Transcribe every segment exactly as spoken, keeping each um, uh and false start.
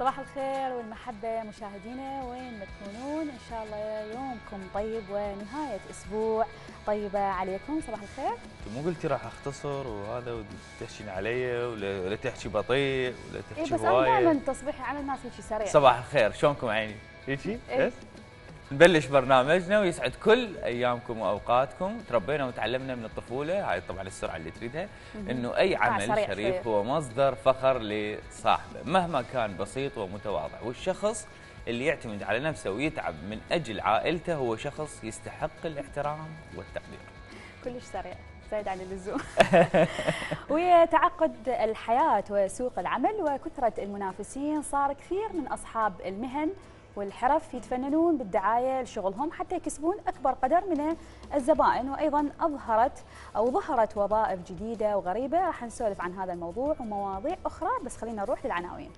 صباح الخير والمحبة مشاهدينا وين ما تكونون، إن شاء الله يومكم طيب ونهاية أسبوع طيبة عليكم. صباح الخير. مو قلتي راح أختصر وهذا وتحشين علي ولا, ولا تحكي بطيء ولا تحكي إيه بس هواية؟ أنا دائما تصبيحي على الناس هيك سريع. صباح الخير، شلونكم عيني؟ هيجي؟ إيه؟ بس نبلش برنامجنا ويسعد كل ايامكم واوقاتكم. تربينا وتعلمنا من الطفوله، هاي طبعا السرعه اللي تريدها، انه اي عمل شريف هو مصدر فخر لصاحبه مهما كان بسيط ومتواضع، والشخص اللي يعتمد على نفسه ويتعب من اجل عائلته هو شخص يستحق الاحترام والتقدير. كلش سريع زايد عن اللزوم. ويا تعقد الحياه وسوق العمل وكثره المنافسين، صار كثير من اصحاب المهن والحرف يتفننون بالدعايه لشغلهم حتى يكسبون اكبر قدر من الزبائن، وايضا اظهرت او ظهرت وظائف جديده وغريبه. راح نسولف عن هذا الموضوع ومواضيع اخرى، بس خلينا نروح للعناوين.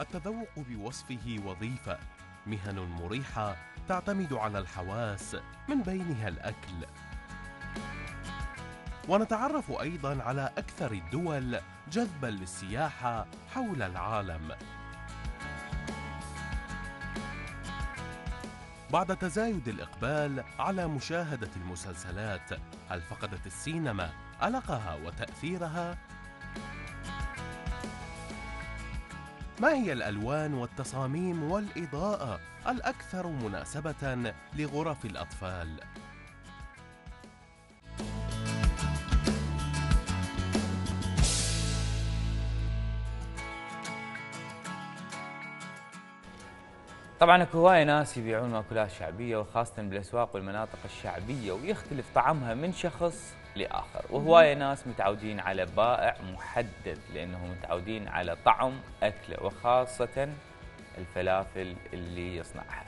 التذوق بوصفه وظيفه، مهن مريحه تعتمد على الحواس من بينها الاكل. ونتعرف أيضاً على أكثر الدول جذباً للسياحة حول العالم. بعد تزايد الإقبال على مشاهدة المسلسلات، هل فقدت السينما ألقها وتأثيرها؟ ما هي الألوان والتصاميم والإضاءة الأكثر مناسبة لغرف الأطفال؟ طبعا اكو هوايه ناس يبيعون مأكولات شعبيه وخاصه بالاسواق والمناطق الشعبيه، ويختلف طعمها من شخص لاخر، وهوايه ناس متعودين على بائع محدد لانهم متعودين على طعم اكله وخاصه الفلافل اللي يصنعها.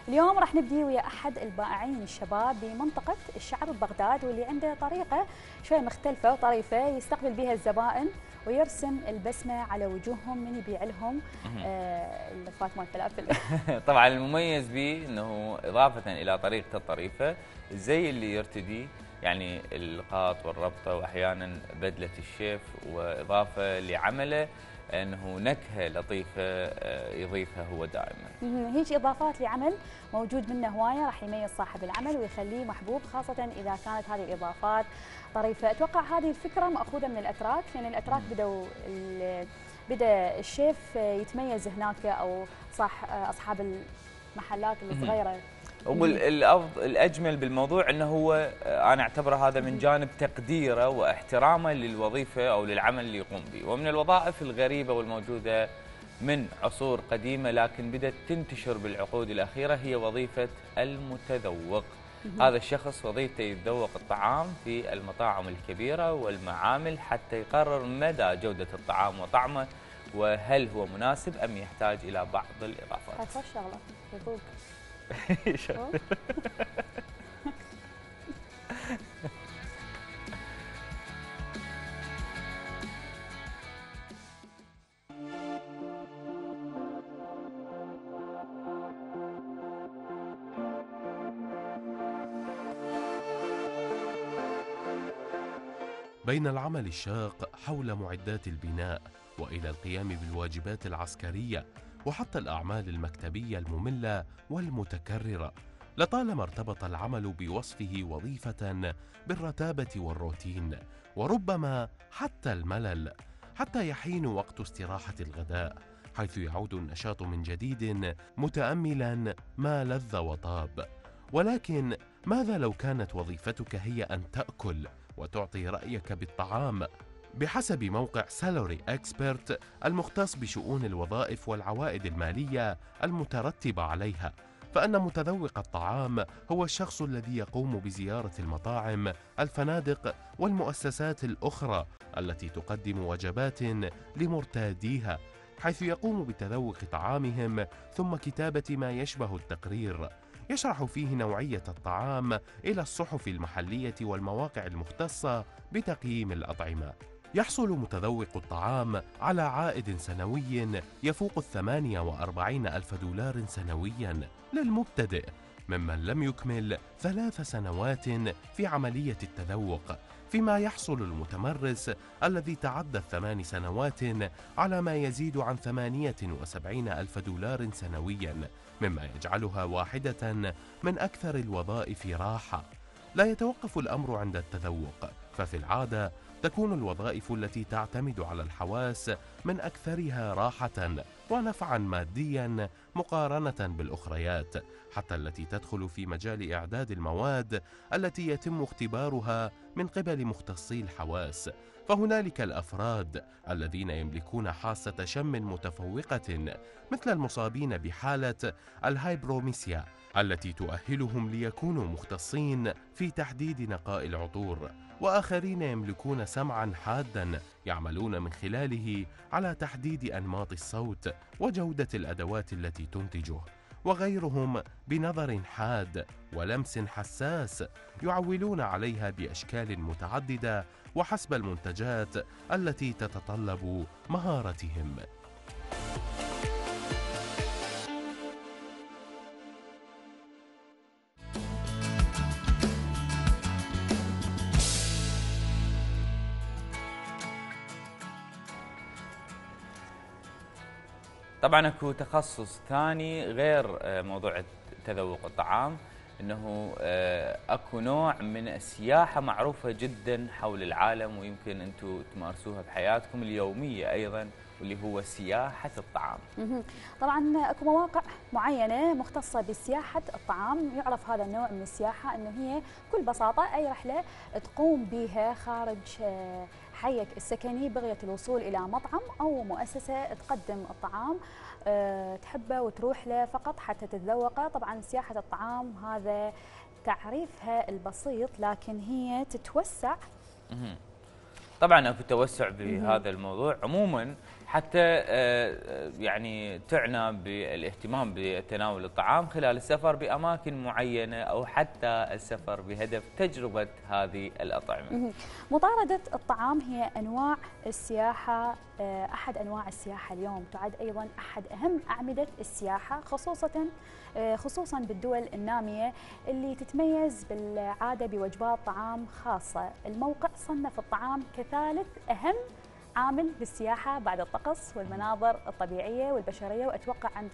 اليوم راح نبدي ويا احد البائعين الشباب بمنطقه الشعر ببغداد، واللي عنده طريقه شوي مختلفه وطريفه يستقبل بها الزبائن ويرسم البسمه على وجوههم من يبيع لهم آه اللفات مال الفلافل. طبعا المميز به انه اضافه الى طريقته الطريفه، الزي اللي يرتدي يعني القاط والربطه واحيانا بدله الشيف، واضافه لعمله انه نكهه لطيفه يضيفها هو دائما. هيك اضافات لعمل موجود منه هوايه راح يميز صاحب العمل ويخليه محبوب، خاصه اذا كانت هذه الاضافات طريفه. اتوقع هذه الفكره ماخوذه من الاتراك، لان الاتراك بدوا بدا الشيف يتميز هناك، او صح اصحاب المحلات الصغيره. والافضل الاجمل بالموضوع انه هو انا اعتبره هذا من جانب تقديره واحترامه للوظيفه او للعمل اللي يقوم به. ومن الوظائف الغريبه والموجوده من عصور قديمه لكن بدات تنتشر بالعقود الاخيره هي وظيفه المتذوق. هذا الشخص وظيفته يتذوق الطعام في المطاعم الكبيره والمعامل حتى يقرر مدى جوده الطعام وطعمه، وهل هو مناسب ام يحتاج الى بعض الاضافات. هاي شغله يذوق. بين العمل الشاق حول معدات البناء وإلى القيام بالواجبات العسكرية وحتى الأعمال المكتبية المملة والمتكررة، لطالما ارتبط العمل بوصفه وظيفة بالرتابة والروتين، وربما حتى الملل، حتى يحين وقت استراحة الغداء، حيث يعود النشاط من جديد متأملا ما لذ وطاب. ولكن ماذا لو كانت وظيفتك هي أن تأكل وتعطي رأيك بالطعام؟ بحسب موقع سالوري اكسبرت المختص بشؤون الوظائف والعوائد المالية المترتبة عليها، فإن متذوق الطعام هو الشخص الذي يقوم بزيارة المطاعم، الفنادق والمؤسسات الأخرى التي تقدم وجبات لمرتاديها، حيث يقوم بتذوق طعامهم ثم كتابة ما يشبه التقرير يشرح فيه نوعية الطعام إلى الصحف المحلية والمواقع المختصة بتقييم الأطعمة. يحصل متذوق الطعام على عائد سنوي يفوق الثمانية وأربعين ألف دولار سنويا للمبتدئ، ممن لم يكمل ثلاث سنوات في عملية التذوق، فيما يحصل المتمرس الذي تعدى الثمان سنوات على ما يزيد عن ثمانية وسبعين ألف دولار سنويا، مما يجعلها واحدة من أكثر الوظائف راحة. لا يتوقف الأمر عند التذوق، ففي العادة تكون الوظائف التي تعتمد على الحواس من أكثرها راحة ونفعا ماديا مقارنة بالأخريات، حتى التي تدخل في مجال إعداد المواد التي يتم اختبارها من قبل مختصي الحواس. فهنالك الأفراد الذين يملكون حاسة شم متفوقة، مثل المصابين بحالة الهايبروميسيا التي تؤهلهم ليكونوا مختصين في تحديد نقاء العطور، وآخرين يملكون سمعا حادا يعملون من خلاله على تحديد أنماط الصوت وجودة الأدوات التي تنتجه، وغيرهم بنظر حاد ولمس حساس يعولون عليها بأشكال متعددة وحسب المنتجات التي تتطلب مهارتهم. طبعا اكو تخصص ثاني غير موضوع تذوق الطعام، انه اكو نوع من السياحه معروفه جدا حول العالم ويمكن انتم تمارسوها بحياتكم اليوميه ايضا، واللي هو سياحه الطعام. طبعا اكو مواقع معينه مختصه بسياحه الطعام، يعرف هذا النوع من السياحه انه هي بكل بساطه اي رحله تقوم بها خارج حيك السكني بغية الوصول إلى مطعم أو مؤسسة تقدم الطعام أه تحبه وتروح له فقط حتى تتذوقه. طبعا سياحة الطعام هذا تعريفها البسيط، لكن هي تتوسع. طبعا اكو توسع بهذا الموضوع عموما، حتى يعني تعنى بالاهتمام بتناول الطعام خلال السفر بأماكن معينة أو حتى السفر بهدف تجربة هذه الأطعمة. مطاردة الطعام هي أنواع السياحة، أحد أنواع السياحة اليوم، تعد أيضا أحد أهم أعمدة السياحة، خصوصا خصوصا بالدول النامية اللي تتميز بالعادة بوجبات طعام خاصة. الموقع صنف الطعام كثالث أهم عامل بالسياحة بعد الطقس والمناظر الطبيعية والبشرية، وأتوقع عند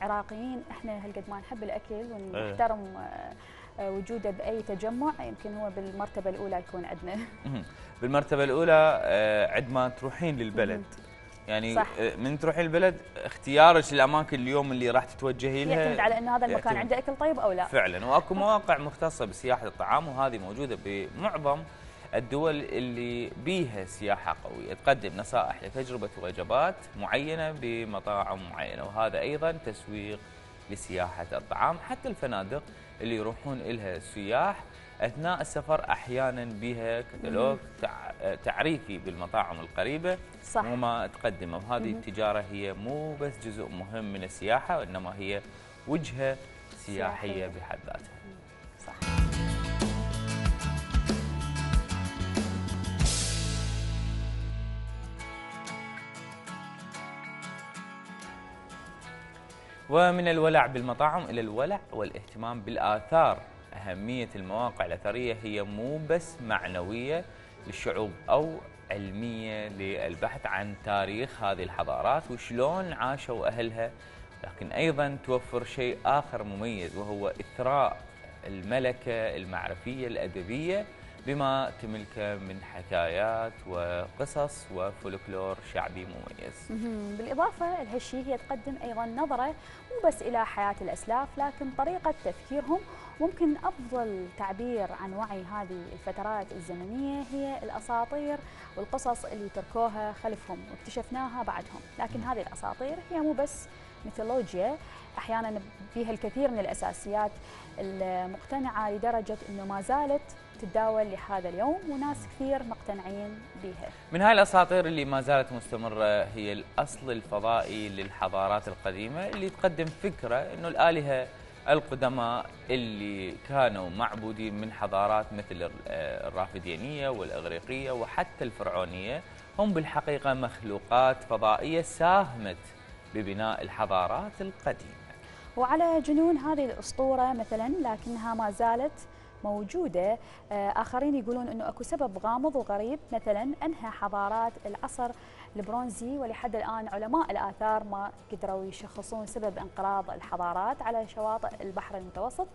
العراقيين إحنا هالقد ما نحب الأكل ونحترم وجوده بأي تجمع، يمكن هو بالمرتبة الأولى يكون عندنا. بالمرتبة الأولى عندما تروحين للبلد، يعني صح. من تروحين البلد اختيارك للأماكن اليوم اللي راح تتوجهي لها يعتمد على أنه هذا المكان عنده أكل طيب أو لا. فعلا، وأكو مواقع مختصة بسياحة الطعام، وهذه موجودة بمعظم الدول اللي بيها سياحة قوية، تقدم نصائح لتجربة وجبات معينة بمطاعم معينة، وهذا أيضا تسويق لسياحة الطعام. حتى الفنادق اللي يروحون لها السياح أثناء السفر أحيانا بها كتالوج تعريفي بالمطاعم القريبة صح. وما تقدمه، وهذه التجارة هي مو بس جزء مهم من السياحة، وإنما هي وجهة سياحية, سياحية بحد ذاتها. صح. ومن الولع بالمطاعم إلى الولع والاهتمام بالآثار. أهمية المواقع الأثرية هي مو بس معنوية للشعوب أو علمية للبحث عن تاريخ هذه الحضارات وشلون عاشوا أهلها، لكن أيضا توفر شيء آخر مميز، وهو إثراء الملكة المعرفية الأدبية بما تملكه من حكايات وقصص وفولكلور شعبي مميز. بالإضافة لهالشيء هي تقدم أيضا نظرة مو بس إلى حياة الأسلاف، لكن طريقة تفكيرهم. ممكن أفضل تعبير عن وعي هذه الفترات الزمنية هي الأساطير والقصص اللي تركوها خلفهم واكتشفناها بعدهم. لكن هذه الأساطير هي مو بس ميثولوجيا، أحيانا بها الكثير من الأساسيات المقتنعة لدرجة أنه ما زالت تتداول لهذا اليوم، وناس كثير مقتنعين بها. من هاي الأساطير اللي ما زالت مستمرة هي الأصل الفضائي للحضارات القديمة، اللي تقدم فكرة أنه الآلهة القدماء اللي كانوا معبودين من حضارات مثل الرافدينية والإغريقية وحتى الفرعونية هم بالحقيقة مخلوقات فضائية ساهمت ببناء الحضارات القديمة. وعلى جنون هذه الأسطورة مثلا لكنها ما زالت موجودة. آخرين يقولون أنه أكو سبب غامض وغريب، مثلا أنهى حضارات العصر البرونزي، ولحد الآن علماء الآثار ما قدروا يشخصون سبب انقراض الحضارات على شواطئ البحر المتوسط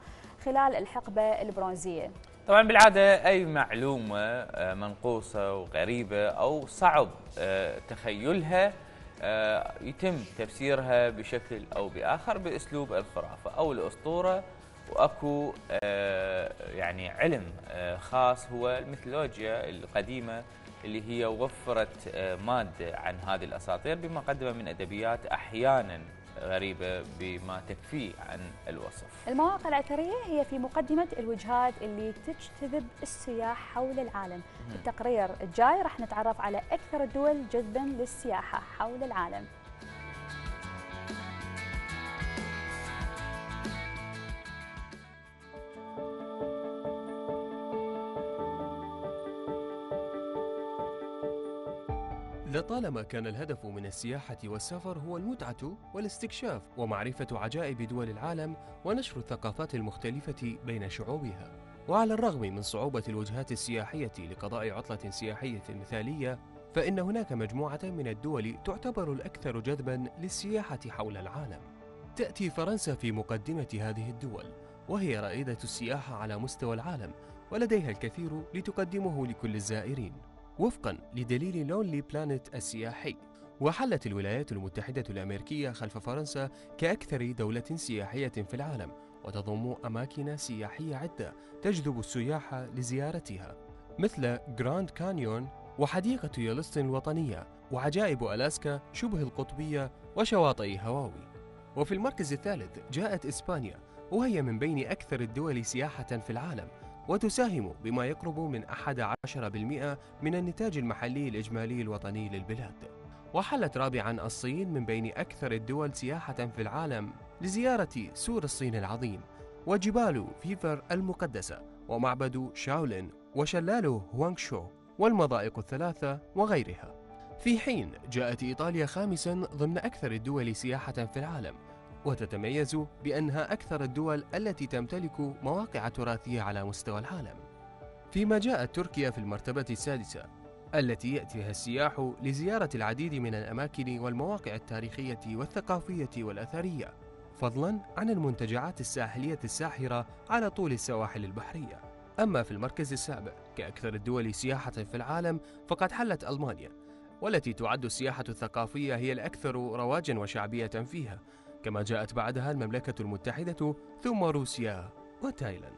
خلال الحقبة البرونزية. طبعا بالعادة أي معلومة منقوصة وغريبة أو صعب تخيلها يتم تفسيرها بشكل أو بآخر بأسلوب الخرافة أو الأسطورة، واكو يعني علم خاص هو الميثولوجيا القديمه اللي هي وفرت ماده عن هذه الاساطير بمقدمه من ادبيات احيانا غريبه بما تكفيه عن الوصف. المواقع الاثريه هي في مقدمه الوجهات اللي تجتذب السياح حول العالم. في التقرير الجاي راح نتعرف على اكثر الدول جذبا للسياحه حول العالم. لطالما كان الهدف من السياحة والسفر هو المتعة والاستكشاف ومعرفة عجائب دول العالم ونشر الثقافات المختلفة بين شعوبها. وعلى الرغم من صعوبة الوجهات السياحية لقضاء عطلة سياحية مثالية، فإن هناك مجموعة من الدول تعتبر الأكثر جذباً للسياحة حول العالم. تأتي فرنسا في مقدمة هذه الدول، وهي رائدة السياحة على مستوى العالم ولديها الكثير لتقدمه لكل الزائرين وفقاً لدليل لونلي بلانيت السياحي. وحلت الولايات المتحدة الأمريكية خلف فرنسا كأكثر دولة سياحية في العالم، وتضم أماكن سياحية عدة تجذب السياح لزيارتها، مثل جراند كانيون وحديقة يلوستن الوطنية وعجائب ألاسكا شبه القطبية وشواطئ هاواي. وفي المركز الثالث جاءت إسبانيا، وهي من بين أكثر الدول سياحة في العالم، وتساهم بما يقرب من أحد عشر بالمئة من النتاج المحلي الإجمالي الوطني للبلاد. وحلت رابعاً الصين من بين أكثر الدول سياحة في العالم لزيارة سور الصين العظيم وجبال فيفر المقدسة ومعبد شاولين وشلال هوانغشو والمضائق الثلاثة وغيرها. في حين جاءت إيطاليا خامساً ضمن أكثر الدول سياحة في العالم، وتتميز بأنها أكثر الدول التي تمتلك مواقع تراثية على مستوى العالم. فيما جاءت تركيا في المرتبة السادسة، التي يأتيها السياح لزيارة العديد من الأماكن والمواقع التاريخية والثقافية والأثرية، فضلاً عن المنتجعات الساحلية الساحرة على طول السواحل البحرية. أما في المركز السابع كأكثر الدول سياحة في العالم، فقد حلت ألمانيا، والتي تعد السياحة الثقافية هي الأكثر رواجاً وشعبية فيها، كما جاءت بعدها المملكة المتحدة ثم روسيا وتايلاند.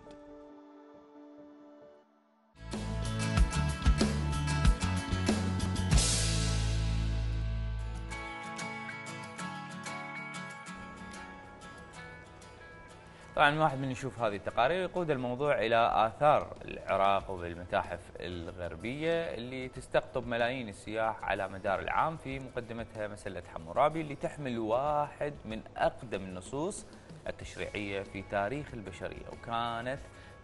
طبعا الواحد من يشوف هذه التقارير يقود الموضوع إلى آثار العراق وبالمتاحف الغربية اللي تستقطب ملايين السياح على مدار العام، في مقدمتها مسلة حمورابي اللي تحمل واحد من أقدم النصوص التشريعية في تاريخ البشرية، وكانت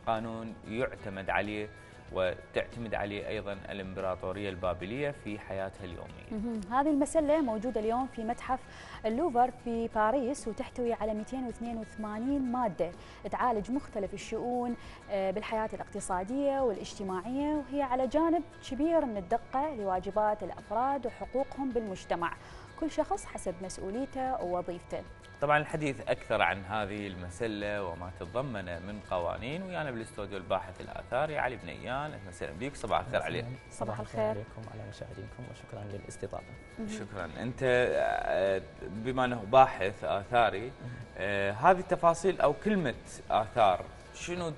قانون يعتمد عليه وتعتمد عليه أيضا الإمبراطورية البابلية في حياتها اليومية. هذه المسلة موجودة اليوم في متحف اللوفر في باريس، وتحتوي على مئتين واثنين وثمانين مادة تعالج مختلف الشؤون بالحياة الاقتصادية والاجتماعية، وهي على جانب كبير من الدقة لواجبات الأفراد وحقوقهم بالمجتمع، كل شخص حسب مسؤوليته ووظيفته. طبعا الحديث أكثر عن هذه المسلة وما تتضمن من قوانين، ويانا بالاستوديو الباحث الآثاري علي بنيان. أهلا وسهلا بك، صباح الخير علي. صباح الخير عليكم وعلى مشاهدينكم، وشكرا للاستضافة. شكرا. أنت بما أنه باحث آثاري، هذه التفاصيل أو كلمة آثار شنو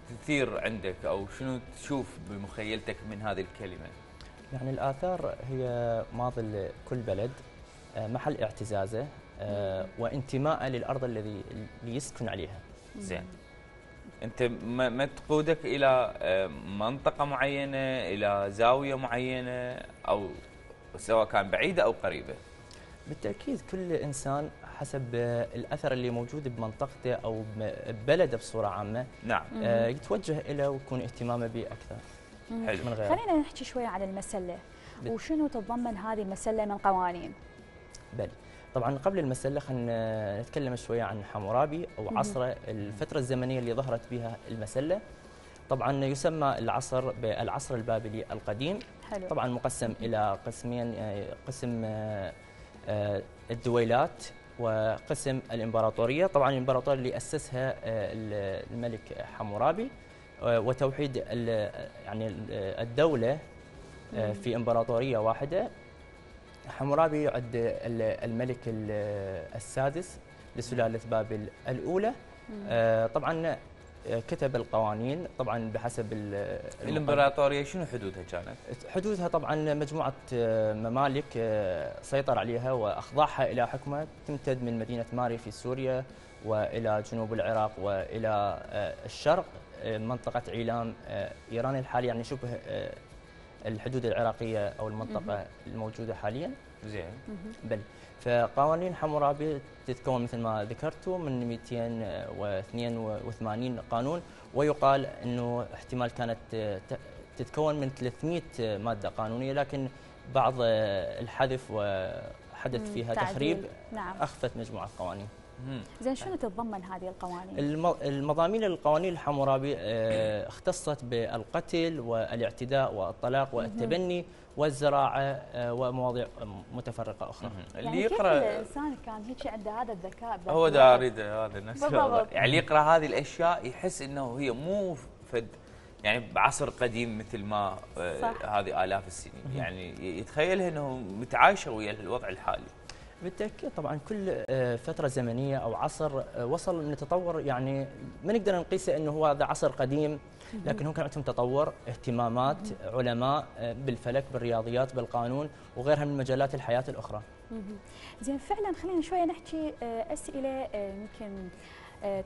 تثير عندك أو شنو تشوف بمخيلتك من هذه الكلمة؟ يعني الآثار هي ماضي كل بلد، محل اعتزازه وانتماء للأرض الذي يسكن عليها. زين، أنت ما تقودك إلى منطقة معينة، إلى زاوية معينة، أو سواء كان بعيدة أو قريبة؟ بالتأكيد كل إنسان حسب الأثر اللي موجود بمنطقته أو ببلده بصورة عامة. نعم. يتوجه إليه ويكون اهتمامه به أكثر. حلو. من غيره. خلينا نحكي شوية عن المسلة، وشنو تتضمن هذه المسلة من قوانين؟ بل طبعا قبل المسله خلينا نتكلم شويه عن حمورابي او عصره، الفتره الزمنيه اللي ظهرت بها المسله. طبعا يسمى العصر بالعصر البابلي القديم. حلو. طبعا مقسم الى قسمين، قسم الدويلات وقسم الامبراطوريه. طبعا الامبراطوريه اللي اسسها الملك حمورابي، وتوحيد يعني الدوله في امبراطوريه واحده. حمورابي يعد الملك السادس لسلاله بابل الاولى. طبعا كتب القوانين طبعا بحسب الامبراطوريه. شنو حدودها كانت؟ حدودها طبعا مجموعه ممالك سيطر عليها واخضعها الى حكمه، تمتد من مدينه ماري في سوريا والى جنوب العراق والى الشرق منطقه عيلام ايران الحاليه، يعني شبه الحدود العراقيه او المنطقه الموجوده حاليا. زين. بل فقوانين حمورابي تتكون مثل ما ذكرتوا من مئتين واثنين وثمانين قانون، ويقال انه احتمال كانت تتكون من ثلاثمئة ماده قانونيه، لكن بعض الحذف وحدث فيها تخريب. نعم. اخفت مجموعه قوانين. زين، شنو تتضمن هذه القوانين؟ المضامين القوانين الحمورابي اختصت بالقتل والاعتداء والطلاق والتبني والزراعه ومواضيع متفرقه اخرى. يعني اللي يقرا كيف الانسان كان هيك عنده هذا الذكاء؟ هو دا اريد هذا نفس يعني اللي يقرا هذه الاشياء يحس انه هي مو فد يعني بعصر قديم مثل ما هذه آلاف السنين، يعني يتخيلها انه متعايشه ويا الوضع الحالي. بالتأكيد طبعا كل فترة زمنية أو عصر وصل من التطور، يعني ما نقدر نقيسه أنه هو هذا عصر قديم، لكن هم كان عندهم تطور، اهتمامات، علماء بالفلك، بالرياضيات، بالقانون وغيرها من مجالات الحياة الأخرى. زين، فعلا خلينا شوية نحكي أسئلة يمكن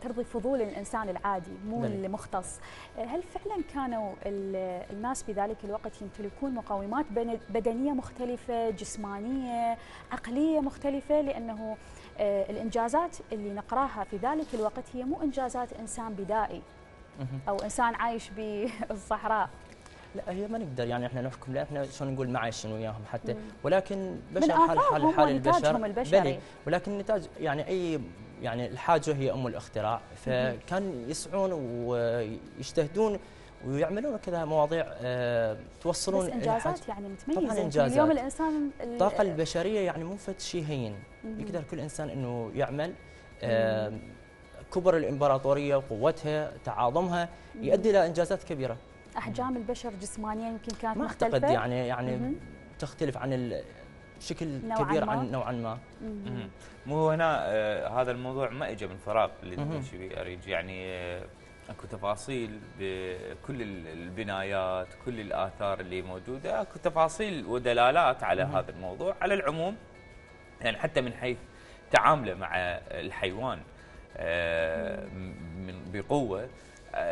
ترضي فضول الإنسان العادي مو المختص. هل فعلا كانوا الناس بذلك الوقت يمتلكون مقومات بدنية مختلفة، جسمانية، عقلية مختلفة؟ لأنه الإنجازات اللي نقراها في ذلك الوقت هي مو إنجازات إنسان بدائي أو إنسان عايش بالصحراء. لا، هي ما نقدر يعني احنا نحكم، لا احنا شلون نقول ما عايشين وياهم حتى، ولكن بشر حال حال حال البشر البشري. ولكن نتاج يعني اي يعني الحاجه هي ام الاختراع، فكان يسعون ويجتهدون ويعملون كذا مواضيع أه توصلون بس انجازات يعني متميزه. طبعا انجازات. اليوم الانسان الطاقه البشريه يعني مو فد شيء هين، يقدر كل انسان انه يعمل. أه كبر الامبراطوريه وقوتها تعاظمها يؤدي الى انجازات كبيره. احجام البشر جسمانيا يمكن كانت ما مختلفه. اعتقد يعني يعني مم. تختلف عن الشكل كبير ما. عن نوعا ما. مم. مو هنا آه هذا الموضوع ما اجى من فراغ اللي تمشي به اريج، يعني آه اكو تفاصيل بكل البنايات، كل الاثار اللي موجوده، اكو تفاصيل ودلالات على مم. هذا الموضوع. على العموم يعني حتى من حيث تعامله مع الحيوان آه من بقوه،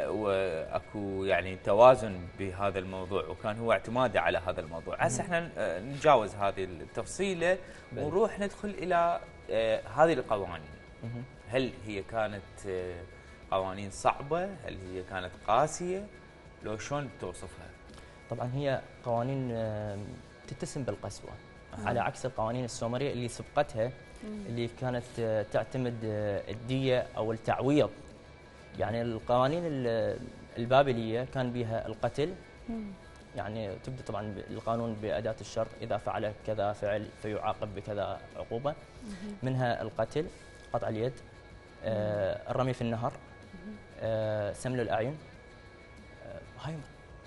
واكو يعني توازن بهذا الموضوع، وكان هو اعتماده على هذا الموضوع. هسه احنا نتجاوز هذه التفصيله ونروح ندخل الى هذه القوانين. هل هي كانت قوانين صعبه؟ هل هي كانت قاسيه؟ لو شلون توصفها؟ طبعا هي قوانين تتسم بالقسوه، على عكس القوانين السومريه اللي سبقتها اللي كانت تعتمد الديه او التعويض. يعني القوانين البابليه كان بها القتل، يعني تبدا طبعا القانون باداه الشر، اذا فعل كذا فعل فيعاقب بكذا عقوبه. منها القتل، قطع اليد، آه الرمي في النهر، آه سمل الاعين، آه هاي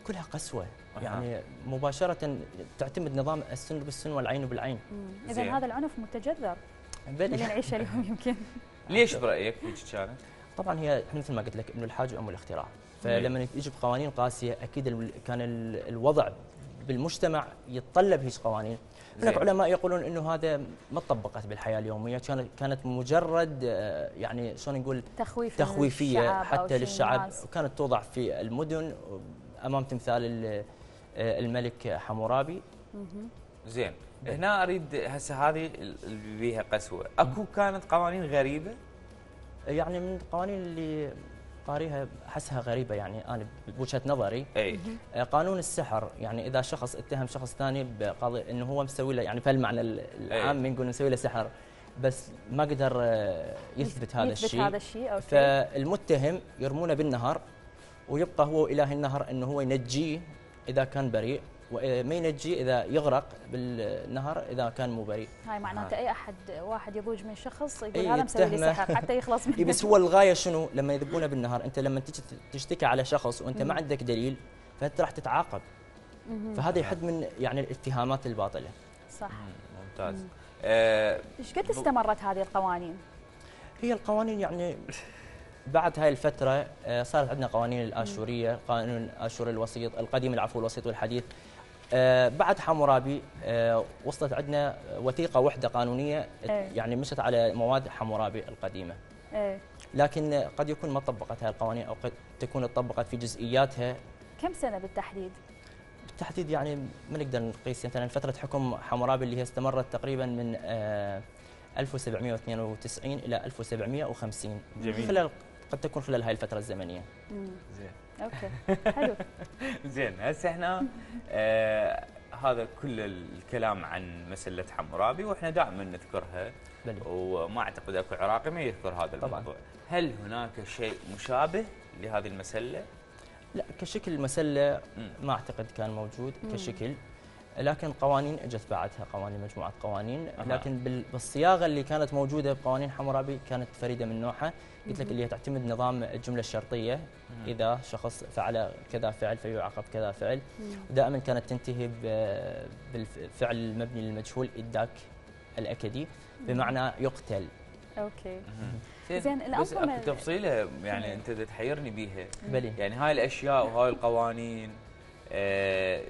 كلها قسوه. يعني مباشره تعتمد نظام السن بالسن والعين بالعين. اذا هذا العنف متجذر اللي نعيشه اليوم يمكن. ليش برايك هيك كانت؟ طبعا هي مثل ما قلت لك انه الحاجه ام الاختراع، فلما يجي بقوانين قاسيه اكيد كان الوضع بالمجتمع يتطلب هيك قوانين. هناك علماء يقولون انه هذا ما طبقت بالحياه اليوميه، كانت كانت مجرد يعني شلون نقول تخويف تخويفيه حتى للشعب، وكانت توضع في المدن امام تمثال الملك حمورابي. زين، هنا اريد هسه هذه اللي بيها قسوه، اكو كانت قوانين غريبه؟ يعني من القوانين اللي قاريها احسها غريبه، يعني انا بوجهه نظري. اي قانون السحر، يعني اذا شخص اتهم شخص ثاني بقضيه انه هو مسوي له، يعني فالمعنى العام نقول مسوي له سحر، بس ما قدر آه، يثبت هذا يثبت الشيء. هذا الشيء، اوكي. فالمتهم يرمونه بالنهر، ويبقى هو إله النهر أنه هو ينجيه إذا كان بريء، وما ينجيه إذا يغرق بالنهر إذا كان مو بريء. هاي معناته اي احد واحد يضوج من شخص يقول إيه هذا مسوي لي يتهمه. سحر حتى يخلص منه. إيه بس هو الغاية شنو؟ لما يذبونه بالنهر، أنت لما تجي تشتكي على شخص وأنت ما عندك دليل فأنت راح تتعاقب. فهذا يحد من يعني الاتهامات الباطلة. صح. ممتاز. آه، ايش قد استمرت هذه القوانين؟ هي القوانين يعني بعد هاي الفترة آه، صارت عندنا قوانين الآشورية، قانون الآشوري الوسيط القديم، العفو الوسيط والحديث. آه، بعد حمورابي آه، وصلت عندنا وثيقة وحدة قانونية إيه. يعني مشت على مواد حمورابي القديمة. ايه. لكن قد يكون ما طبقت هاي القوانين أو قد تكون طبقت في جزئياتها. كم سنة بالتحديد؟ بالتحديد يعني ما نقدر نقيس، مثلا فترة حكم حمورابي اللي هي استمرت تقريبا من آه، ألف وسبعمئة واثنين وتسعين إلى ألف وسبعمئة وخمسين. جميل. خلال قد تكون خلال هاي الفترة الزمنية. مم. زين. اوكي حلو. زين هسه احنا آه هذا كل الكلام عن مسألة حمورابي واحنا دائما نذكرها، بلي. وما اعتقد اكو عراقي ما يذكر هذا طبعاً. الموضوع. هل هناك شيء مشابه لهذه المسألة؟ لا كشكل مسلة مم. ما اعتقد كان موجود مم. كشكل، لكن قوانين اجت بعدها قوانين مجموعه قوانين، أها. لكن بال- بالصياغه اللي كانت موجوده بقوانين حمورابي كانت فريده من نوعها. قلت لك اللي هي تعتمد نظام الجمله الشرطيه، مم. اذا شخص فعل كذا فعل فيعاقب كذا فعل، مم. ودائما كانت تنتهي ب- بالفعل المبني للمجهول إداك الأكدي، بمعنى يقتل. اوكي. زين زين، بس الأنظمة- اكو تفصيله يعني انت دا تحيرني بيها، بلي. يعني هاي الاشياء وهاي القوانين آه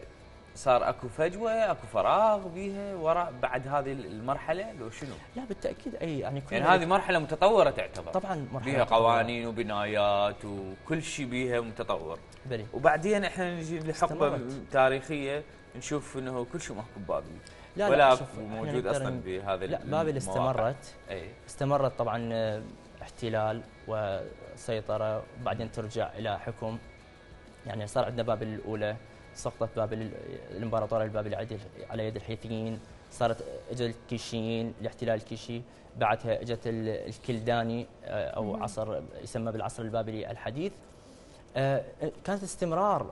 صار اكو فجوه اكو فراغ بيها وراء بعد هذه المرحله لو شنو؟ لا بالتأكيد أي يعني كل يعني هذه مرحله متطوره تعتبر. طبعا مرحلة بيها قوانين وبنايات وكل شيء بيها متطور، بلي. وبعدين احنا نجي لحقبه استمرت. تاريخيه نشوف انه كل شيء محكوم بابل لا ولا لا اكو شوف، إحنا موجود نقدر اصلا ن- بهذا لا بابل المواقع. استمرت اي استمرت طبعا آه، احتلال وسيطرة، وبعدين ترجع إلى حكم. يعني صار عندنا بابل الأولى، سقطت بابل الإمبراطورية البابلية على يد- على يد الحيثيين، صارت اجى الكيشيين الاحتلال الكيشي، بعدها اجت ال- الكلداني آه، او مم. عصر يسمى بالعصر البابلي الحديث. آه، كانت استمرار.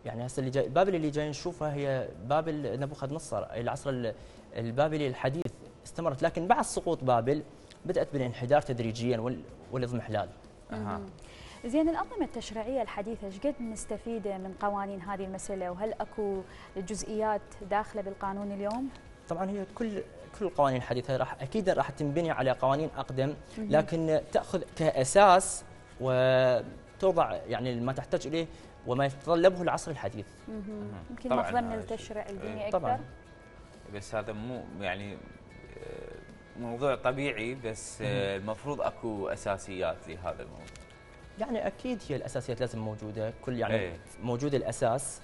يعني هسه اللي جاي بابل اللي جاي نشوفها هي بابل نبوخذ نصر، العصر ال- البابلي الحديث استمرت، لكن بعد سقوط بابل بدات بالانحدار تدريجيا وال- والاضمحلال. اها مم. زين، الأنظمة التشريعية الحديثة ايش قد مستفيدة من قوانين هذه المسألة، وهل اكو جزئيات داخلة بالقانون اليوم؟ طبعا هي كل كل القوانين الحديثه راح اكيد راح تنبني على قوانين اقدم، مم. لكن تاخذ كاساس وتوضع يعني ما تحتاج اليه وما يتطلبه العصر الحديث. مم. يمكن طبعاً مخزن هذا التشريع شيء. الديني إيه. اكثر. طبعاً. بس هذا مو يعني آه، موضوع طبيعي، بس آه، المفروض اكو اساسيات لهذا الموضوع. يعني اكيد هي الاساسيات لازم موجوده، كل يعني إيه. موجود الاساس.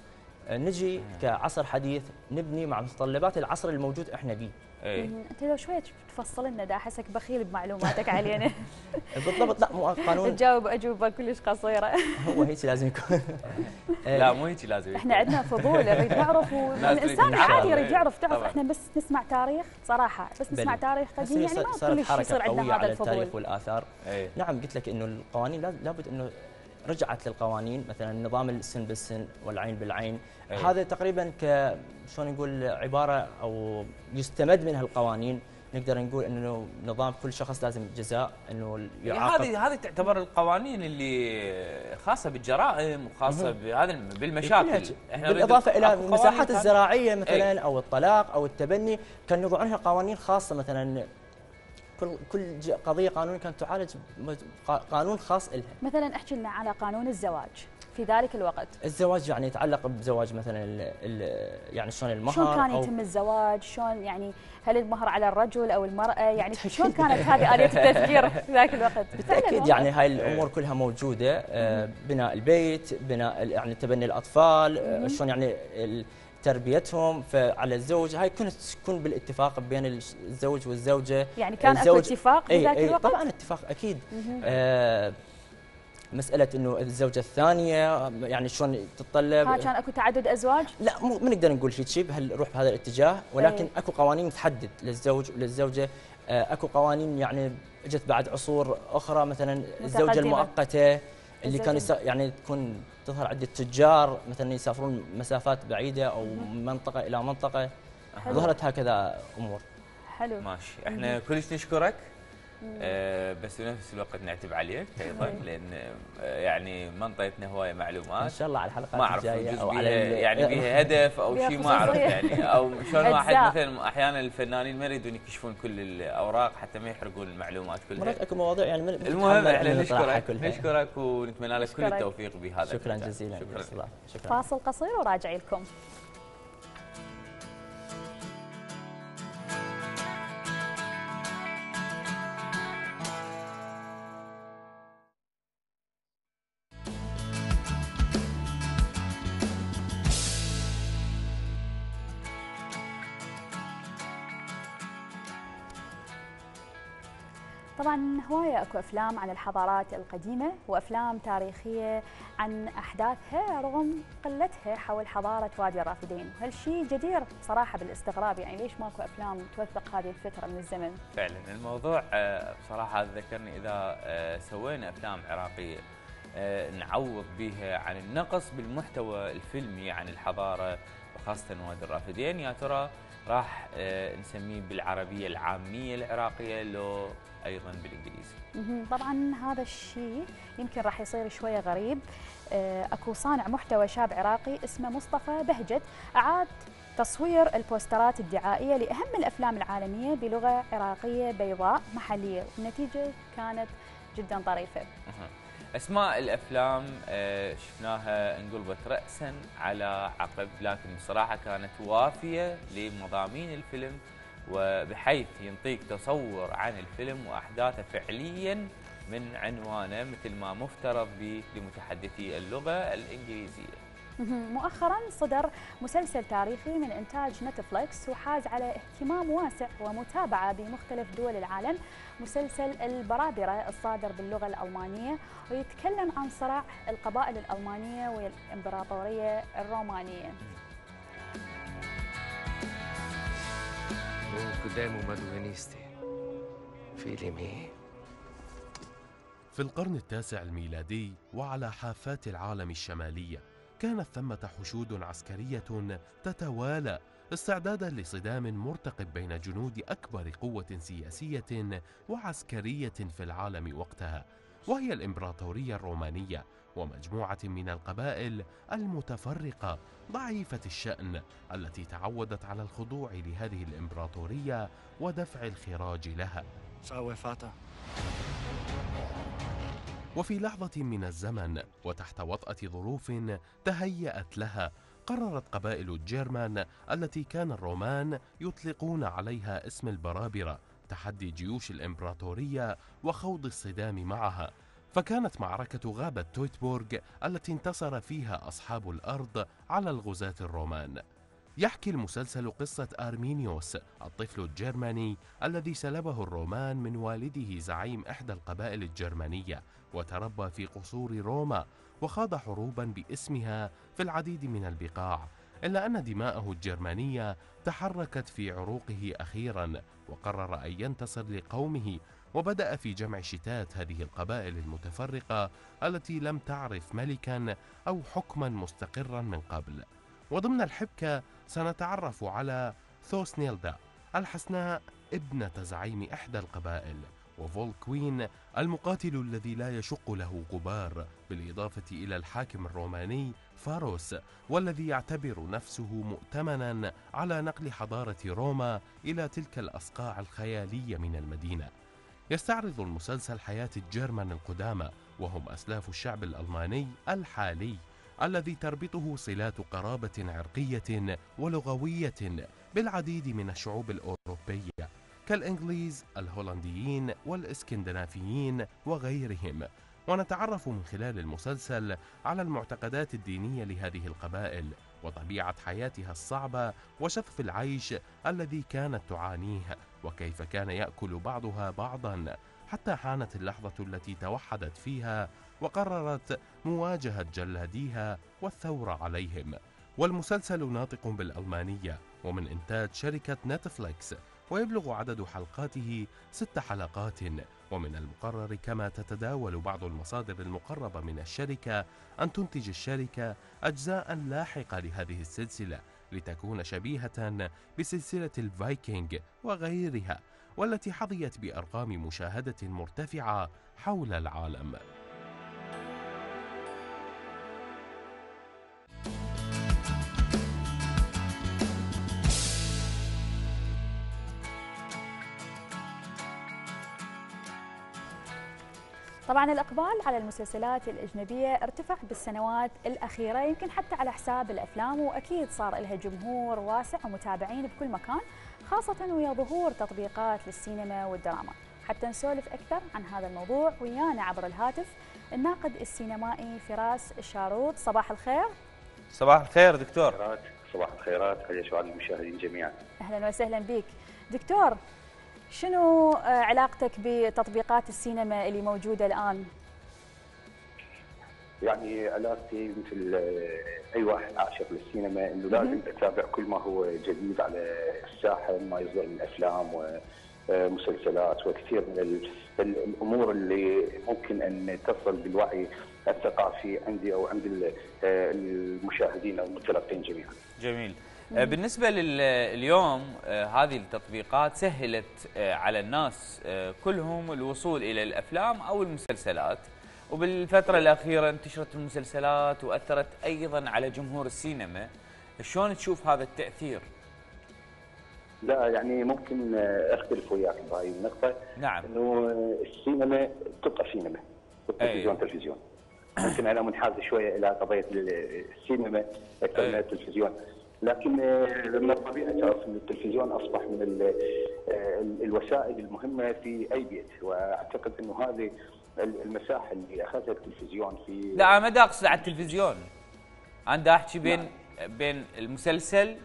آه، نجي كعصر حديث نبني مع متطلبات العصر الموجود احنا به. اي مم. انت لو شوية تفصل لنا، دا احسك بخيل بمعلوماتك علينا. بالضبط. لا مو قانون تجاوب اجوبة كلش قصيرة. هو هيك لازم يكون. لا مو هيك لازم احنا عندنا فضول نريد نعرف، لازم والانسان نعرف. عادي يريد يعرف. تعرف طبعاً. احنا بس نسمع تاريخ صراحة، بس نسمع بلي. تاريخ هسه قديم هي يعني ما صارت كلش حركه يصير قويه عندنا هذا على التاريخ الفضول. والاثار. اي نعم قلت لك انه القوانين لاز- لابد انه رجعت للقوانين، مثلا نظام السن بالسن والعين بالعين. أي. هذا تقريبا ك شلون نقول عباره او يستمد منها القوانين. نقدر نقول انه نظام كل شخص لازم جزاء انه يعاقب. هذه هذه تعتبر القوانين اللي خاصه بالجرائم وخاصه مهم. بهذا بالمشاكل. احنا بالاضافه الى أكو قوانين المساحات ثانية. الزراعيه مثلا أي. او الطلاق او التبني، كان يوضعونها قوانين خاصه. مثلا كل كل ج- قضيه قانونيه كانت تعالج م- قا- قانون خاص لها. مثلا احكي لنا على قانون الزواج في ذلك الوقت. الزواج يعني يتعلق بزواج مثلا ال ال يعني شلون المهر شلون كان أو يتم الزواج؟ شلون يعني هل المهر على الرجل او المراه؟ يعني شلون كانت هذه آلية التفكير في ذاك الوقت؟ بالتاكيد يعني هاي الامور كلها موجوده. آه، بناء البيت، بناء ال- يعني تبني الاطفال، آه، شلون يعني ال- تربيتهم فعلى الزوج. هاي كانت تكون بالاتفاق بين الش- الزوج والزوجه. يعني كان اكو الزوج- اتفاق اي بذاك اي الوقت؟ طبعا اتفاق اكيد. مهم. آه، مساله انه الزوجه الثانيه يعني شلون تتطلب. ها كان اكو تعدد ازواج؟ لا مو ما نقدر نقول شيء شيء بهالروح بهذا الاتجاه، ولكن أي. اكو قوانين تحدد للزوج وللزوجه آه، اكو قوانين يعني اجت بعد عصور اخرى، مثلا الزوجه متقدمة. المؤقته اللي كان الزوجة. يسا يعني تكون تظهر عده تجار مثلا يسافرون مسافات بعيده او من منطقه الى منطقه. حلو. ظهرت هكذا امور. حلو. ماشي، احنا كلش نشكرك. آه بس بنفس الوقت نعتب عليك ايضا، إيه. لان آه يعني ما انطيتنا هوايه ان معلومات. شاء الله على الحلقات ما اعرف الجايه يجوز او بيها على ال- يعني بيها هدف او بيها شيء ما اعرف خصوصية. يعني، او شلون واحد أجزاء. مثلا احيانا الفنانين ما يريدون يكشفون كل الاوراق حتى ما يحرقون المعلومات كلها. مرات اكو مواضيع يعني من المهم احنا من نطرحها نشكرك كلها. نشكرك ونتمنى لك كل نشكرك. التوفيق بهذا شكرا المجال. جزيلا. شكرا. شكرا. فاصل قصير وراجعي لكم. طبعا هواية اكو افلام عن الحضارات القديمة وافلام تاريخية عن احداثها رغم قلتها حول حضارة وادي الرافدين، وهالشيء جدير صراحة بالاستغراب، يعني ليش ماكو افلام توثق هذه الفترة من الزمن؟ فعلا الموضوع آه، بصراحه ذكرني اذا آه، سوينا افلام عراقيه آه، نعوض بها عن النقص بالمحتوى الفيلمي عن الحضاره وخاصه وادي الرافدين، يا ترى راح آه، نسميه بالعربيه العاميه العراقيه لو ايضا بالانجليزي؟ مهم. طبعا هذا الشيء يمكن راح يصير شويه غريب. آه، اكو صانع محتوى شاب عراقي اسمه مصطفى بهجت اعاد تصوير البوسترات الدعائيه لاهم الافلام العالميه بلغه عراقيه بيضاء محليه، والنتيجه كانت جدا طريفه. أها. اسماء الافلام آه، شفناها انقلبت راسا على عقب، لكن بصراحه كانت وافيه لمضامين الفيلم، وبحيث ينطيك تصور عن الفيلم واحداثه فعليا من عنوانه مثل ما مفترض به لمتحدثي اللغه الانجليزيه. مهم. مؤخرا صدر مسلسل تاريخي من انتاج نتفليكس وحاز على اهتمام واسع ومتابعه بمختلف دول العالم، مسلسل البرابره الصادر باللغه الالمانيه، ويتكلم عن صراع القبائل الالمانيه والامبراطوريه الرومانيه. قدامه ما دوينيستي فيلمي. في القرن التاسع الميلادي وعلى حافات العالم الشمالية كانت ثمة حشود عسكرية تتوالى استعدادا لصدام مرتقب بين جنود أكبر قوة سياسية وعسكرية في العالم وقتها، وهي الإمبراطورية الرومانية ومجموعة من القبائل المتفرقة ضعيفة الشأن التي تعودت على الخضوع لهذه الإمبراطورية ودفع الخراج لها. صاوي فاتا. وفي لحظة من الزمن وتحت وطأة ظروف تهيأت لها، قررت قبائل الجيرمان التي كان الرومان يطلقون عليها اسم البرابرة تحدي جيوش الإمبراطورية وخوض الصدام معها، فكانت معركة غابة تويتبورغ التي انتصر فيها أصحاب الأرض على الغزاة الرومان. يحكي المسلسل قصة أرمينيوس الطفل الجرماني الذي سلبه الرومان من والده زعيم إحدى القبائل الجرمانية، وتربى في قصور روما وخاض حروبا باسمها في العديد من البقاع، إلا أن دماءه الجرمانية تحركت في عروقه أخيرا وقرر أن ينتصر لقومه، وبدأ في جمع شتات هذه القبائل المتفرقة التي لم تعرف ملكا أو حكما مستقرا من قبل. وضمن الحبكة سنتعرف على ثوسنيلدا الحسناء ابنة زعيم إحدى القبائل، وفولكوين المقاتل الذي لا يشق له غبار، بالإضافة إلى الحاكم الروماني فاروس والذي يعتبر نفسه مؤتمنا على نقل حضارة روما إلى تلك الأصقاع الخيالية من المدينة. يستعرض المسلسل حياة الجيرمان القدامى، وهم أسلاف الشعب الألماني الحالي الذي تربطه صلات قرابة عرقية ولغوية بالعديد من الشعوب الأوروبية كالإنجليز، الهولنديين والإسكندنافيين وغيرهم. ونتعرف من خلال المسلسل على المعتقدات الدينية لهذه القبائل وطبيعة حياتها الصعبة وشظف العيش الذي كانت تعانيه، وكيف كان يأكل بعضها بعضا، حتى حانت اللحظة التي توحدت فيها وقررت مواجهة جلاديها والثورة عليهم. والمسلسل ناطق بالألمانية ومن إنتاج شركة نتفليكس، ويبلغ عدد حلقاته ست حلقات. ومن المقرر كما تتداول بعض المصادر المقربة من الشركة أن تنتج الشركة أجزاء لاحقة لهذه السلسلة لتكون شبيهة بسلسلة الفايكنج وغيرها، والتي حظيت بأرقام مشاهدة مرتفعة حول العالم. طبعا الإقبال على المسلسلات الأجنبية ارتفع بالسنوات الأخيرة، يمكن حتى على حساب الأفلام، وأكيد صار لها جمهور واسع ومتابعين بكل مكان، خاصة ويا ظهور تطبيقات للسينما والدراما. حتى نسولف أكثر عن هذا الموضوع ويانا عبر الهاتف الناقد السينمائي فراس الشاروط. صباح الخير. صباح الخير دكتور. صباح الخيرات، حياك الله المشاهدين جميعا. أهلا وسهلا بك دكتور. شنو علاقتك بتطبيقات السينما اللي موجودة الآن؟ يعني علاقتي مثل أي واحد عاشق للسينما إنه لازم أتابع كل ما هو جديد على الساحة، ما يصدر من أفلام ومسلسلات وكثير من الأمور اللي ممكن أن تصل بالوعي الثقافي عندي أو عند المشاهدين أو المتلقين جميعا. جميل. بالنسبة لليوم هذه التطبيقات سهلت على الناس كلهم الوصول إلى الأفلام أو المسلسلات، وبالفترة الأخيرة انتشرت المسلسلات وأثرت أيضا على جمهور السينما. شلون تشوف هذا التأثير؟ لا يعني ممكن أختلف وياك بهاي النقطة. نعم. إنه السينما تبقى سينما والتلفزيون تلفزيون. ممكن أنا منحاز شوية إلى قضية السينما أكثر من التلفزيون، لكن من الطبيعي تعرف ان التلفزيون اصبح من الوسائل المهمه في اي بيت، واعتقد انه هذه المساحه اللي اخذها التلفزيون في لا ما دا اقصد على التلفزيون، انا دا احكي بين نعم. بين المسلسل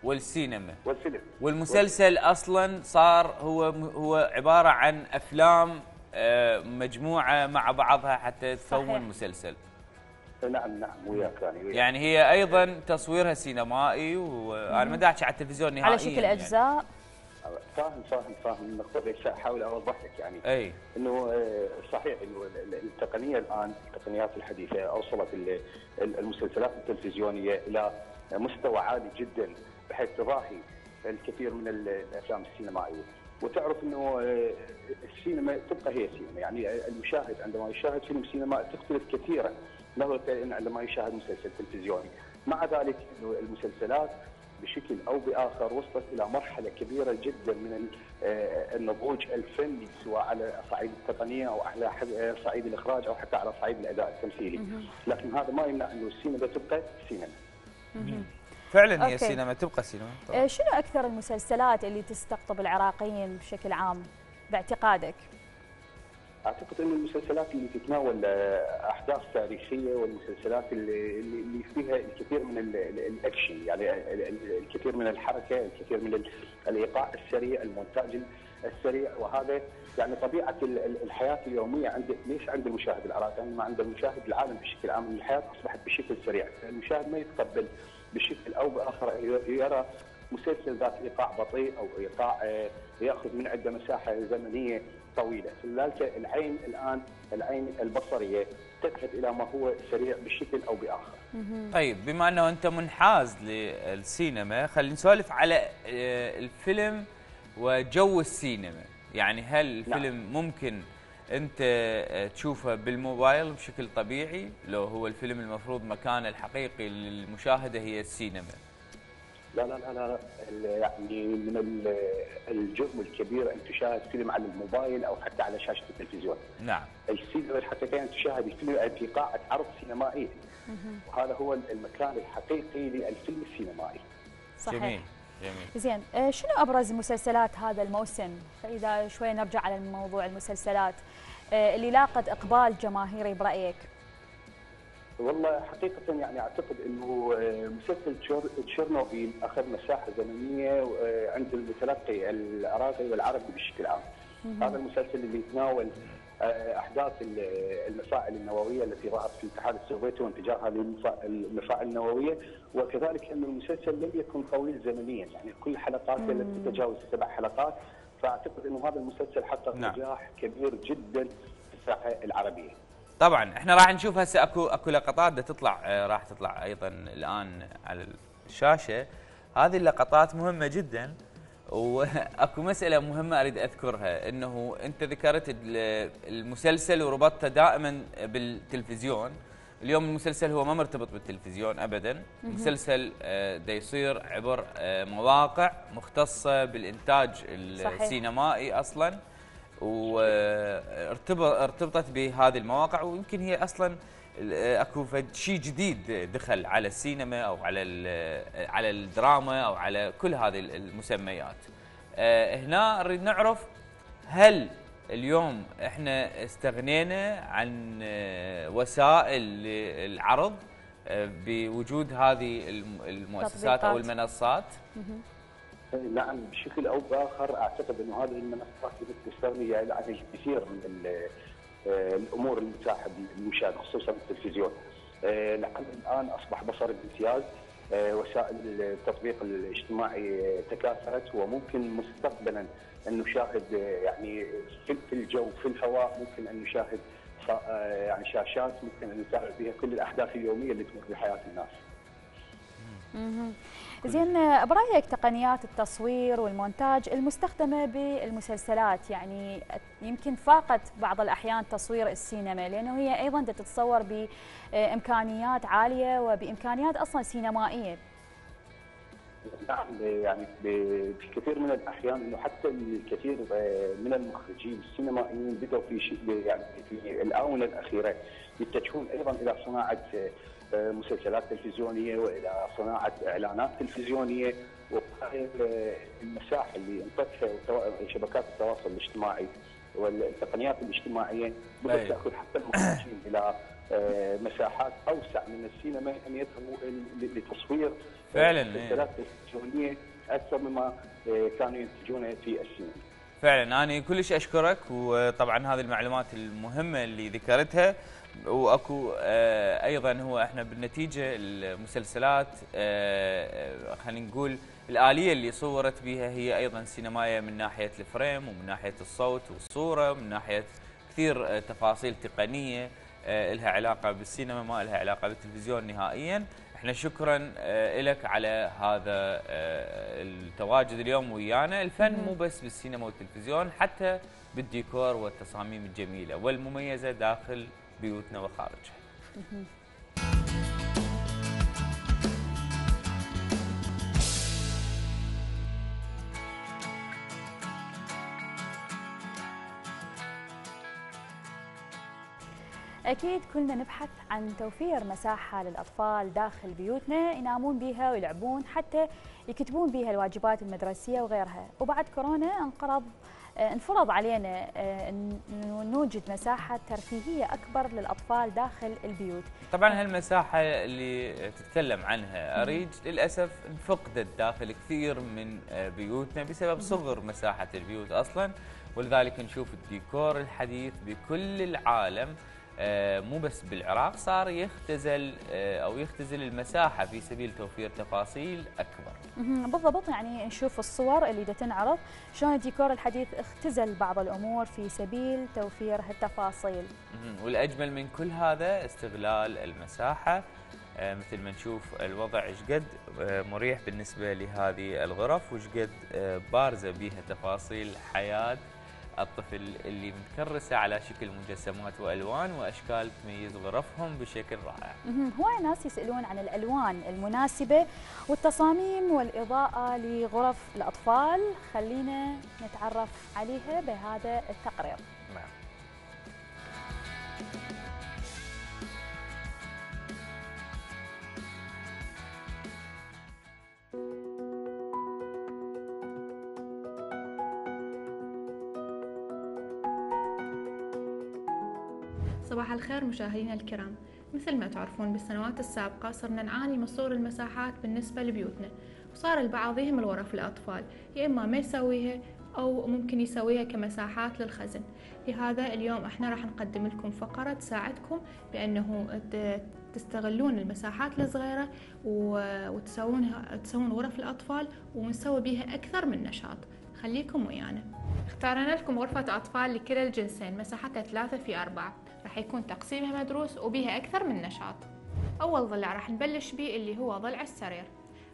والسينما والفيلم. والمسلسل اصلا صار هو هو عباره عن افلام مجموعه مع بعضها حتى تكون مسلسل. نعم نعم وياك يعني وياك. يعني هي ايضا تصويرها سينمائي، وانا ما داحكي على التلفزيون نهائيا على شكل اجزاء. يعني. فاهم فاهم فاهم النقطة، بس احاول اوضح لك يعني اي انه صحيح انه التقنية الان التقنيات الحديثة اوصلت المسلسلات التلفزيونية الى مستوى عالي جدا بحيث تضاهي الكثير من الافلام السينمائية. وتعرف انه السينما تبقى هي سينما، يعني المشاهد عندما يشاهد فيلم سينمائي تختلف كثيرا نظرة عندما يشاهد مسلسل تلفزيوني. مع ذلك انه المسلسلات بشكل او باخر وصلت الى مرحله كبيره جدا من النضوج الفني، سواء على صعيد التقنيه او على صعيد الاخراج او حتى على صعيد الاداء التمثيلي، لكن هذا ما يمنع انه السينما تبقى سينما. فعلا هي السينما تبقى سينما. طبعا. شنو اكثر المسلسلات اللي تستقطب العراقيين بشكل عام باعتقادك؟ اعتقد ان المسلسلات اللي تتناول احداث تاريخيه والمسلسلات اللي اللي فيها الكثير من الاكشن، يعني الكثير من الحركه، الكثير من الايقاع السريع، المونتاج السريع، وهذا يعني طبيعه الحياه اليوميه عند ليش عند المشاهد العراقي، ما عند المشاهد العالم بشكل عام. الحياه اصبحت بشكل سريع، المشاهد ما يتقبل بشكل او باخر يرى مسلسل ذات ايقاع بطيء او ايقاع ياخذ من عنده مساحه زمنيه طويله، فلذلك العين الان العين البصريه تذهب الى ما هو سريع بشكل او باخر. طيب بما انه انت منحاز للسينما، خلينا نسولف على الفيلم وجو السينما، يعني هل الفيلم نعم. ممكن انت تشوفه بالموبايل بشكل طبيعي لو هو الفيلم المفروض مكانه الحقيقي للمشاهده هي السينما؟ لا لا لا لا يعني من الجرم الكبير ان تشاهد فيلم على الموبايل او حتى على شاشه التلفزيون. نعم. السينما الحقيقيه ان تشاهد الفيلم في قاعه عرض سينمائيه. وهذا هو المكان الحقيقي للفيلم السينمائي. صحيح. جميل جميل. زين، شنو ابرز مسلسلات هذا الموسم؟ فاذا شوي نرجع على موضوع المسلسلات اللي لاقت اقبال جماهيري برايك. والله حقيقة يعني أعتقد أنه مسلسل تشيرنوبيل أخذ مساحة زمنية عند المتلقي العراقي والعربي بشكل عام. هذا المسلسل اللي يتناول احداث المفاعل النوويه التي ظهرت في الاتحاد السوفيتي وانفجارها للمفاعل النوويه، وكذلك ان المسلسل لم يكن طويل زمنيا، يعني كل حلقاته لم تتجاوز سبع حلقات، فاعتقد انه هذا المسلسل حقق نجاح كبير جدا في الساحه العربيه. طبعا احنا راح نشوف هسه اكو اكو لقطات بدها تطلع، راح تطلع ايضا الان على الشاشه. هذه اللقطات مهمه جدا، واكو مساله مهمه اريد اذكرها، انه انت ذكرت المسلسل وربطته دائما بالتلفزيون. اليوم المسلسل هو ما مرتبط بالتلفزيون ابدا، المسلسل دا يصير عبر مواقع مختصه بالانتاج السينمائي اصلا، وارتبطت بهذه المواقع، ويمكن هي اصلا اكو شيء جديد دخل على السينما او على على الدراما او على كل هذه المسميات. هنا نريد نعرف، هل اليوم احنا استغنينا عن وسائل العرض بوجود هذه المؤسسات او المنصات؟ نعم، بشكل او باخر اعتقد انه هذه المنصات تستغني عن الكثير من الامور المتاحه للمشاهد خصوصا التلفزيون. العمل الان اصبح بصر بامتياز، وسائل التطبيق الاجتماعي تكاثرت، وممكن مستقبلا ان نشاهد يعني في الجو في الهواء، ممكن ان نشاهد يعني شاشات ممكن ان نتابع بها كل الاحداث اليوميه اللي تمر بحياه الناس. زين، برايك تقنيات التصوير والمونتاج المستخدمه بالمسلسلات يعني يمكن فاقت بعض الاحيان تصوير السينما، لانه هي ايضا تتصور بامكانيات عاليه وبامكانيات اصلا سينمائيه. نعم، يعني في كثير من الاحيان انه حتى الكثير من المخرجين السينمائيين بدأوا في شيء يعني في الاونه الاخيره يتجهون ايضا الى صناعه مسلسلات تلفزيونيه والى صناعه اعلانات تلفزيونيه، وهذه المساحه اللي انطتها شبكات التواصل الاجتماعي والتقنيات الاجتماعيه بدات تاخذ حتى المخرجين الى مساحات اوسع من السينما ان يذهبوا لتصوير فعلا مسلسلات تلفزيونيه اكثر مما كانوا ينتجونه في السينما. فعلا انا كلش اشكرك، وطبعا هذه المعلومات المهمه اللي ذكرتها، واكو آه ايضا هو احنا بالنتيجه المسلسلات آه خلينا نقول الاليه اللي صورت بها هي ايضا سينمائيه من ناحيه الفريم ومن ناحيه الصوت والصوره ومن ناحيه كثير آه تفاصيل تقنيه آه لها علاقه بالسينما، ما لها علاقه بالتلفزيون نهائيا. احنا شكرا آه لك على هذا آه التواجد اليوم ويانا. الفن مو بس بالسينما والتلفزيون، حتى بالديكور والتصاميم الجميله والمميزه داخل بيوتنا وخارجها. أكيد كلنا نبحث عن توفير مساحة للأطفال داخل بيوتنا ينامون بها ويلعبون، حتى يكتبون بها الواجبات المدرسية وغيرها. وبعد كورونا انقرض انفرض علينا أن نوجد مساحة ترفيهية أكبر للأطفال داخل البيوت. طبعا هالمساحة اللي تتكلم عنها أريج للأسف انفقدت داخل كثير من بيوتنا بسبب صغر مساحة البيوت أصلا، ولذلك نشوف الديكور الحديث بكل العالم مو بس بالعراق صار يختزل او يختزل المساحه في سبيل توفير تفاصيل اكبر. بالضبط، يعني نشوف الصور اللي دا تنعرض شلون الديكور الحديث اختزل بعض الامور في سبيل توفير هالتفاصيل. والاجمل من كل هذا استغلال المساحه، مثل ما نشوف الوضع ايش قد مريح بالنسبه لهذه الغرف، وايش قد بارزه بها تفاصيل حياه الطفل اللي متكرسه على شكل مجسمات والوان واشكال تميز غرفهم بشكل رائع. هواي ناس يسالون عن الالوان المناسبه والتصاميم والاضاءه لغرف الاطفال، خلينا نتعرف عليها بهذا التقرير. نعم. صباح الخير مشاهدينا الكرام. مثل ما تعرفون بالسنوات السابقة صرنا نعاني من صور المساحات بالنسبة لبيوتنا، وصار البعض يهمل غرف الأطفال، يا إما ما يسويها أو ممكن يسويها كمساحات للخزن. لهذا اليوم احنا راح نقدم لكم فقرة تساعدكم بأنه تستغلون المساحات الصغيرة وتسوونها تسوون غرف الأطفال ونسوي بيها أكثر من نشاط. خليكم ويانا. اختارنا لكم غرفة أطفال لكلا الجنسين، مساحتها ثلاثة في أربعة، راح يكون تقسيمها مدروس وبيها أكثر من نشاط. أول ضلع راح نبلش به اللي هو ضلع السرير.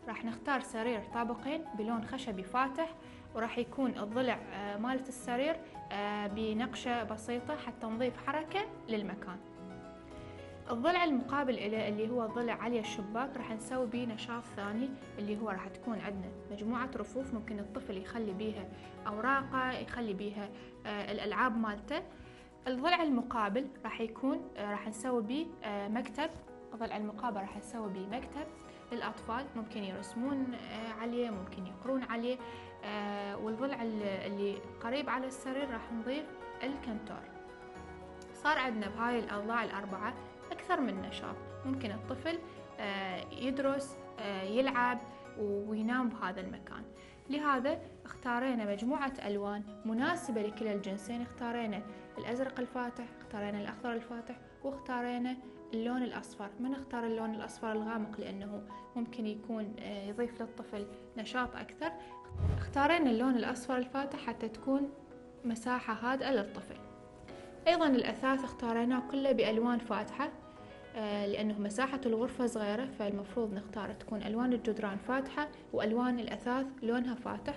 راح نختار سرير طابقين بلون خشبي فاتح، وراح يكون الضلع مالت السرير بنقشة بسيطة حتى نضيف حركة للمكان. الضلع المقابل إليه اللي هو ضلع على الشباك راح نسوي بيه نشاط ثاني، اللي هو راح تكون عندنا مجموعة رفوف ممكن الطفل يخلي بيها أوراقه، يخلي بيها الألعاب مالته. الضلع المقابل راح يكون راح نسوي بيه مكتب. الضلع المقابل راح نسوي بيه مكتب للأطفال، ممكن يرسمون عليه، ممكن يقرون عليه. والضلع اللي قريب على السرير راح نضيف الكنتور. صار عندنا بهاي الأضلاع الأربعة أكثر من نشاط، ممكن الطفل يدرس، يلعب وينام بهذا المكان. لهذا اختارينا مجموعة ألوان مناسبة لكلا الجنسين، اختارينا الأزرق الفاتح، اختارينا الأخضر الفاتح، واختارينا اللون الأصفر. ما نختار اللون الأصفر الغامق لأنه ممكن يكون يضيف للطفل نشاط أكثر. اختارينا اللون الأصفر الفاتح حتى تكون مساحة هادئة للطفل. أيضا الأثاث اختاريناه كله بألوان فاتحة لأنه مساحة الغرفة صغيرة، فالمفروض نختار تكون ألوان الجدران فاتحة وألوان الأثاث لونها فاتح.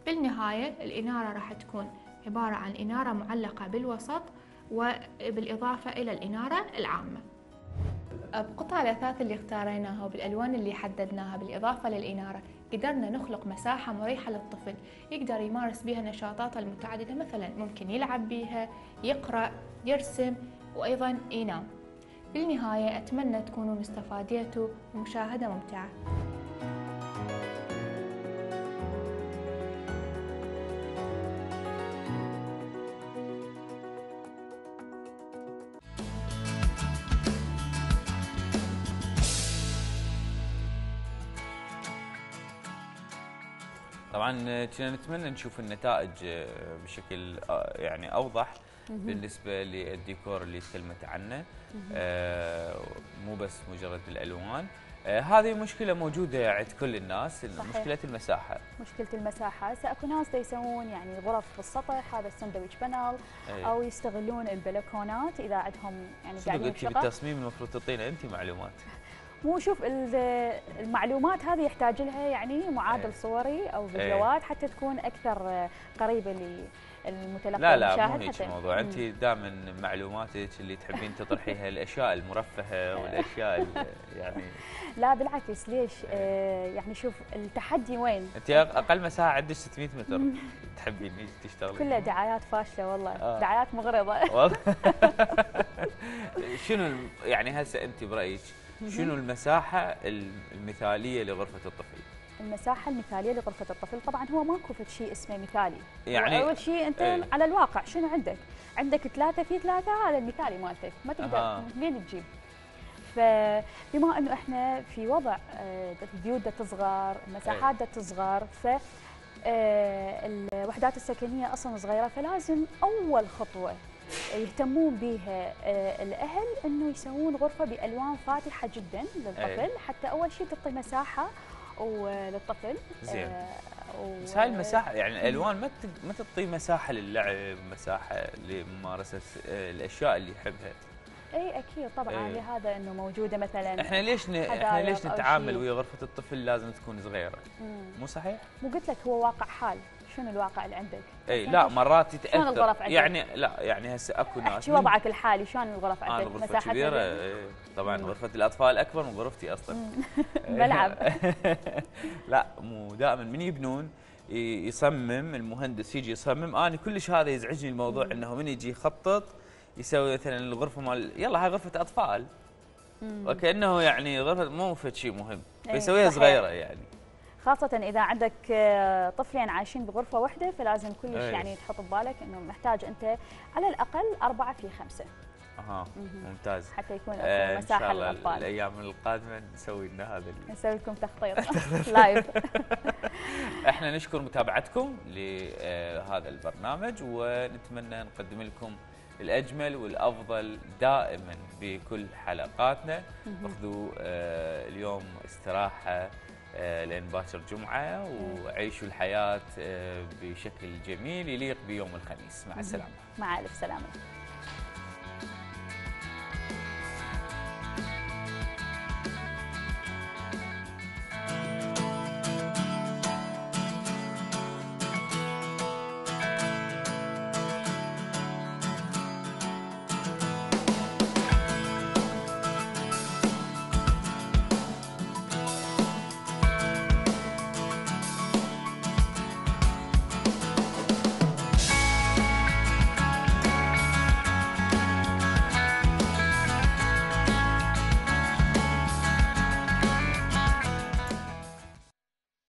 بالنهاية الإنارة راح تكون عبارة عن إنارة معلقة بالوسط وبالإضافة إلى الإنارة العامة. بقطع الأثاث اللي اختاريناها وبالألوان اللي حددناها بالإضافة للإنارة قدرنا نخلق مساحة مريحة للطفل يقدر يمارس بها نشاطاته المتعددة، مثلا ممكن يلعب بها، يقرأ، يرسم، وأيضا ينام. بالنهاية أتمنى تكونوا مستفاديتوا ومشاهدة ممتعة. طبعا كنا نتمنى نشوف النتائج بشكل يعني اوضح بالنسبه للديكور اللي تكلمت عنه، آه مو بس مجرد بالالوان. آه هذه مشكله موجوده عند كل الناس، مشكله المساحه. مشكله المساحه، ساكو ناس دا يسوون يعني غرف في السطح، هذا الساندويتش بانل، أيه. او يستغلون البلكونات اذا عندهم يعني قاعدين انت بالتصميم المفروض تعطينا انت معلومات. مو شوف المعلومات هذه يحتاج لها يعني معادل أيه. صوري او فيديوهات أيه. حتى تكون اكثر قريبه للمتلقي. لا لا مو هيك الموضوع، انت دائما معلوماتك اللي تحبين تطرحيها الاشياء المرفهه والاشياء يعني. لا بالعكس، ليش؟ آه يعني شوف التحدي وين؟ انت اقل مساحه عندك ستمئة متر تحبين هيك تشتغلين؟ كلها دعايات فاشله والله. آه. دعايات مغرضه والله. شنو يعني هسه انت برايك شنو المساحة المثالية لغرفة الطفل؟ المساحة المثالية لغرفة الطفل طبعا هو ماكو فد شيء اسمه مثالي. يعني أول شيء أنت ايه؟ على الواقع شنو عندك؟ عندك ثلاثة في ثلاثة، هذا المثالي مالتك، ما تقدر آه. منين تجيب؟ فبما أنه إحنا في وضع البيوت دا تصغر، المساحات دا تصغر، ف الوحدات السكنية أصلا صغيرة، فلازم أول خطوة يهتمون بها الأهل أنه يسوون غرفة بألوان فاتحة جدا للطفل. أيه. حتى أول شيء تعطي مساحة وللطفل. زين. آه و... بس هاي المساحة يعني الألوان ما ما تعطي مساحة للعب، مساحة لممارسة الأشياء اللي يحبها. اي اكيد طبعا. أيه. لهذا انه موجوده مثلا احنا ليش ن... احنا ليش نتعامل ويا غرفة الطفل لازم تكون صغيرة؟ مم. مو صحيح؟ مو قلت لك هو واقع حال، شنو الواقع اللي عندك؟ اي لا مرات يتاثر. شلون الغرف عندك؟ يعني لا يعني هسه اكو ناس شو وضعك الحالي؟ شلون الغرف عندك؟ آه مساحه كبيره. ايه طبعا مم. غرفه الاطفال اكبر من غرفتي اصلا. بلعب. لا مو دائما من يبنون يصمم المهندس يجي يصمم، انا كلش هذا يزعجني الموضوع. مم. انه من يجي يخطط يسوي مثلا الغرفه مال يلا هاي غرفه اطفال، مم. وكانه يعني غرفه مو فد شيء مهم، فيسويها صغيره يعني. خاصة إذا عندك طفلين عايشين بغرفة واحدة، فلازم كلش يعني تحط ببالك إنه محتاج أنت على الأقل أربعة في خمسة. اها ممتاز. حتى يكون اكو آه مساحه ان شاء الله للاطفال. الايام القادمه نسوي لنا هذا نسوي لكم تخطيط لايف. احنا نشكر متابعتكم لهذا البرنامج، ونتمنى نقدم لكم الاجمل والافضل دائما بكل حلقاتنا. اخذوا آه اليوم استراحه آه لان باكر جمعه، وعيشوا الحياه آه بشكل جميل يليق بيوم الخميس. مع السلامه. مع الف سلامه.